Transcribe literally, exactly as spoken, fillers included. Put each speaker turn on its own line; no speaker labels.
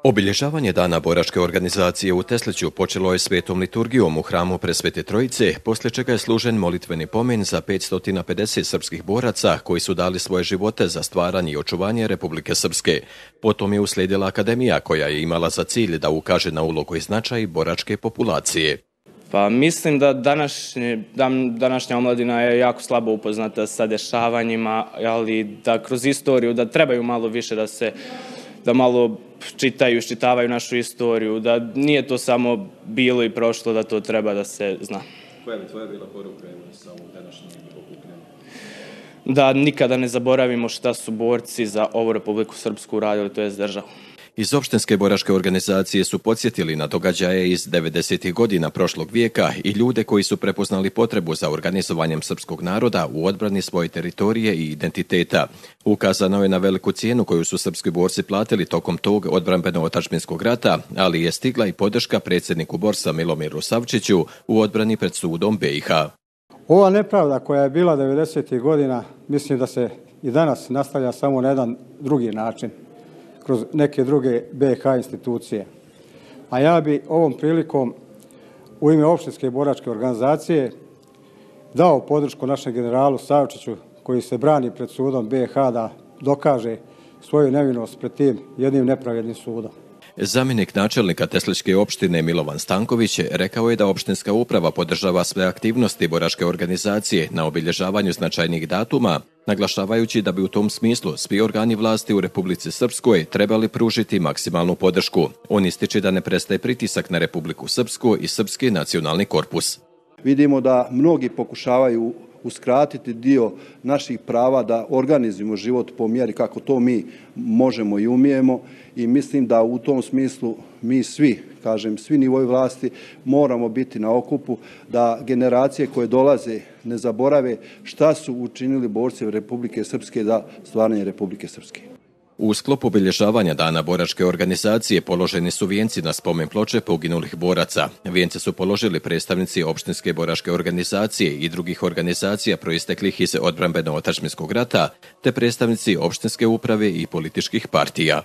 Obilježavanje Dana boračke organizacije u Tesliću počelo je svetom liturgijom u hramu Presvete Trojice, poslije čega je služen molitveni pomen za petsto pedeset srpskih boraca koji su dali svoje živote za stvaranje i očuvanje Republike Srpske. Potom je uslijedila akademija koja je imala za cilj da ukaže na ulogu i značaj boračke populacije.
Pa mislim da današnje, današnja omladina je jako slabo upoznata sa dešavanjima, ali da kroz istoriju, da trebaju malo više da se, da malo čitaju, iščitavaju našu istoriju, da nije to samo bilo i prošlo, da to treba da se zna.
Koja bi tvoja bila poruka sa ovom današnjeg okupljanja?
Da nikada ne zaboravimo šta su borci za ovu Republiku Srpsku uradili, to je državu.
Iz opštinske boračke organizacije su podsjetili na događaje iz devedesetih godina prošlog vijeka i ljude koji su prepoznali potrebu za organizovanjem srpskog naroda u odbrani svoje teritorije i identiteta. Ukazano je na veliku cijenu koju su srpski borci platili tokom tog odbrambeno-otadžbinskog rata, ali je stigla i podrška predsjedniku borsa Milomiru Savčiću u odbrani pred sudom be i ha.
Ova nepravda koja je bila devedesetih godina, mislim da se i danas nastavlja samo na jedan drugi način, kroz neke druge be i ha institucije. A ja bi ovom prilikom u ime opštinske boračke organizacije dao podršku našem generalu Savčiću koji se brani pred sudom be i ha da dokaže svoju nevinost pred tim jednim nepravednim sudom.
Zamjenik načelnika Teslićke opštine Milovan Stanković rekao je da opštinska uprava podržava sve aktivnosti boračke organizacije na obilježavanju značajnih datuma, naglašavajući da bi u tom smislu svi organi vlasti u Republici Srpskoj trebali pružiti maksimalnu podršku. On ističe da ne prestaje pritisak na Republiku Srpsku i Srpski nacionalni korpus.
Vidimo da mnogi pokušavaju uskratiti dio naših prava da organizujemo život po mjeri kako to mi možemo i umijemo i mislim da u tom smislu mi svi, kažem, svi nivoji vlasti moramo biti na okupu da generacije koje dolaze ne zaborave šta su učinili borci Republike Srpske za stvaranje Republike Srpske.
U sklopu obilježavanja Dana boračke organizacije položeni su vijenci na spomen ploče poginulih boraca. Vijence su položili predstavnici opštinske boračke organizacije i drugih organizacija proisteklih iz odbrambeno-otadžbinskog rata, te predstavnici opštinske uprave i političkih partija.